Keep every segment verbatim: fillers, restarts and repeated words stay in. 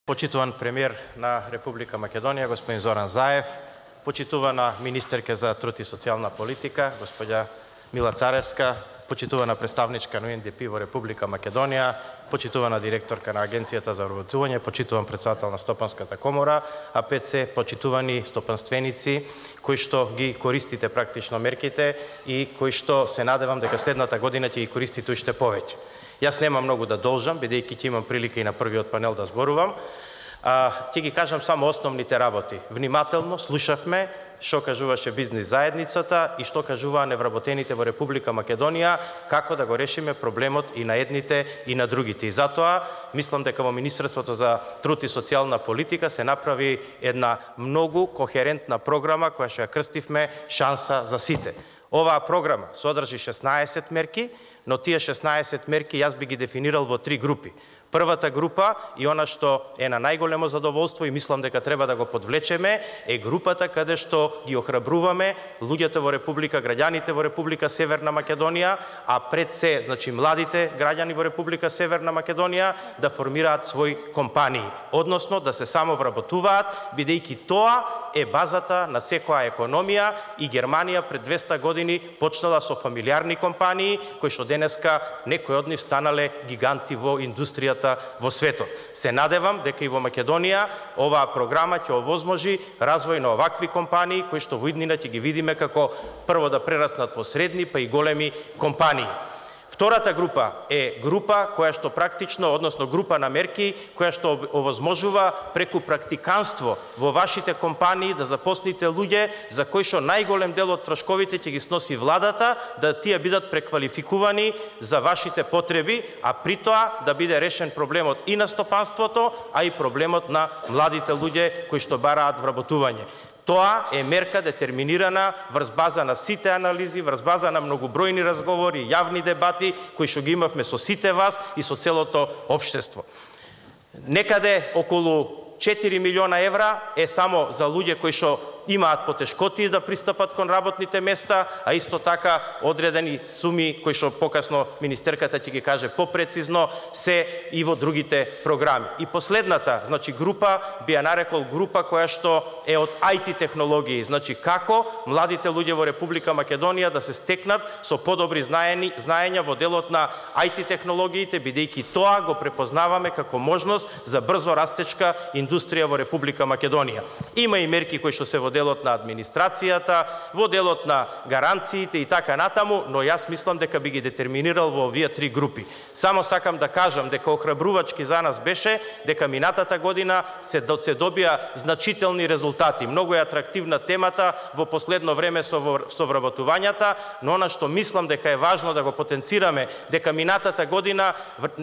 Почитуван премиер на Република Македонија, господин Зоран Заев, почитувана министерка за труд и социјална политика, господја Мила Царевска, почитувана представничка на У Н Д П во Република Македонија, почитувана директорка на Агенцијата за вработување, почитуван председател на Стопанската комора, а пет се почитувани стопанственици кои што ги користите практично мерките и кои што се надевам дека следната година ќе ги користите уште повеќе. Јас нема многу да должам, бидејќи ќе имам прилика и на првиот панел да зборувам. А, ќе ги кажам само основните работи. Внимателно слушавме што кажуваше бизнис заедницата и што кажуваа невработените во Република Македонија, како да го решиме проблемот и на едните и на другите. И затоа мислам дека во Министерството за труд и социјална политика се направи една многу кохерентна програма која што ја крстивме Шанса за сите. Оваа програма содржи шеснаесет мерки, но тие шеснаесет мерки јас би ги дефинирал во три групи. Првата група и она што е на најголемо задоволство и мислам дека треба да го подвлечеме е групата каде што ги охрабруваме луѓето во Република, граѓаните во Република Северна Македонија, а пред се, значи младите граѓани во Република Северна Македонија да формираат своји компании, односно да се самовработуваат, бидејќи тоа е базата на секоја економија и Германија пред двеста години почнала со фамилиарни компании кои што денеска некои од нив станале гиганти во индустријата во светот. Се надевам дека и во Македонија оваа програма ќе овозможи развој на овакви компании кои што во иднина ќе ги видиме како прво да прераснат во средни па и големи компании. Втората група е група која што практично, односно група на мерки, која што овозможува преку практиканство во вашите компании да запослите луѓе за кои што најголем дел од трошковите ќе ги сноси владата, да тие бидат преквалификувани за вашите потреби, а при тоа да биде решен проблемот и на стопанството, а и проблемот на младите луѓе кои што бараат вработување. Тоа е мерка детерминирана врз база на сите анализи, врз база на многобројни разговори, јавни дебати кои што ги имавме со сите вас и со целото општество. Некаде околу четири милиона евра е само за луѓе кои што имаат потешкоти да пристапат кон работните места, а исто така одредени суми кои што покасно министерката ќе ги каже попрецизно се и во другите програми. И последната, значи група би ја нарекол група која што е од ај ти технологии, значи како младите луѓе во Република Македонија да се стекнат со подобри знаења, знаења во делот на ај ти технологиите, бидејќи тоа го препознаваме како можност за брзо растечка индустрија во Република Македонија. Има и мерки кои што се во делот на администрацијата, во делот на гаранциите и така натаму, но јас мислам дека би ги детерминирал во овие три групи. Само сакам да кажам дека охрабрувачки за нас беше дека минатата година се, се добија значителни резултати. Многу е атрактивна темата во последно време со, со вработувањата, но она што мислам дека е важно да го потенцираме, дека минатата година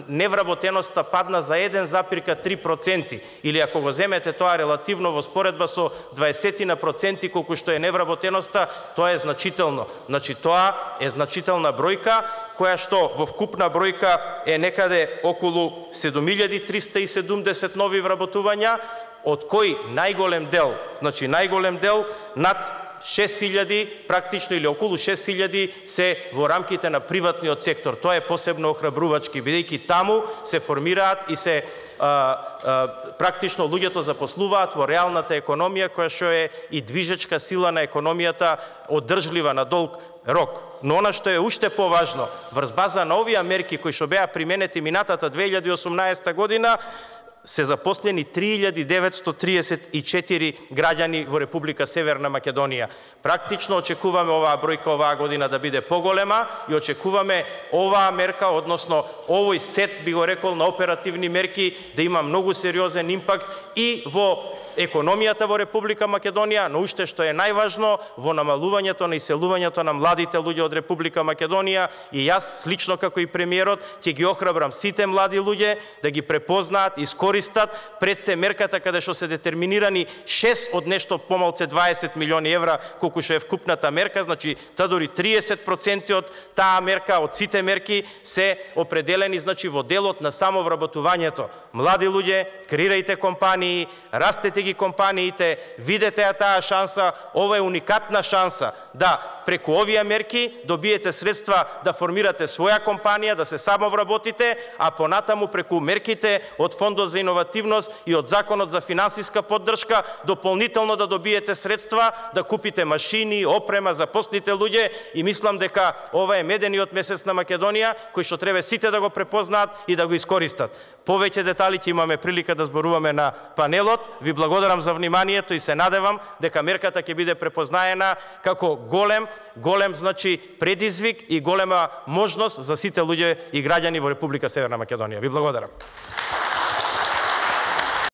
невработеноста падна за еден запирка три проценти, или ако го земете тоа релативно во споредба со дваесет проценти колку што е невработеноста, тоа е значително. Значи тоа е значителна бројка која што во вкупна бројка е некаде околу седум илјади триста и седумдесет нови вработувања, од кои најголем дел, значи најголем дел над шест илјади, практично или околу шест илјади се во рамките на приватниот сектор. Тоа е посебно охрабрувачки, бидејќи таму се формираат и се а, а, практично луѓето запослуваат во реалната економија, која што е и движечка сила на економијата, одржлива на долг рок. Но она што е уште поважно, врз база на овие мерки кои што беа применети минатата две илјади и осумнаесета година, се запослени три илјади деветсто триесет и четири граѓани во Република Северна Македонија. Практично очекуваме оваа бројка оваа година да биде поголема и очекуваме оваа мерка, односно овој сет, би го рекол, на оперативни мерки да има многу сериозен импакт и во економијата во Република Македонија, но уште што е најважно, во намалувањето на иселувањето на младите луѓе од Република Македонија, и јас слично како и премиерот ќе ги охрабрам сите млади луѓе да ги препознаат, искористат пред се мерката каде што се детерминирани шест од нешто помалце дваесет милиони евра колку што е вкупната мерка, значи та дури триесет проценти од таа мерка, од сите мерки се определени значи во делот на самовработувањето. Млади луѓе, креирајте компании, растете ги компаниите, видете ја таа шанса, ова е уникатна шанса да преку овие мерки добиете средства да формирате своја компанија, да се самовработите, а понатаму преку мерките од Фондот за иновативност и од Законот за финансиска поддршка дополнително да добиете средства, да купите машини, опрема, запослите луѓе и мислам дека ова е медениот месец на Македонија, кој што треба сите да го препознаат и да го искористат. Повеќе детали ќе имаме прилика да зборуваме на панелот. Ви благодарам за вниманието и се надевам дека мерката ќе биде препознаена како голем, голем значи предизвик и голема можност за сите луѓе и граѓани во Република Северна Македонија. Ви благодарам.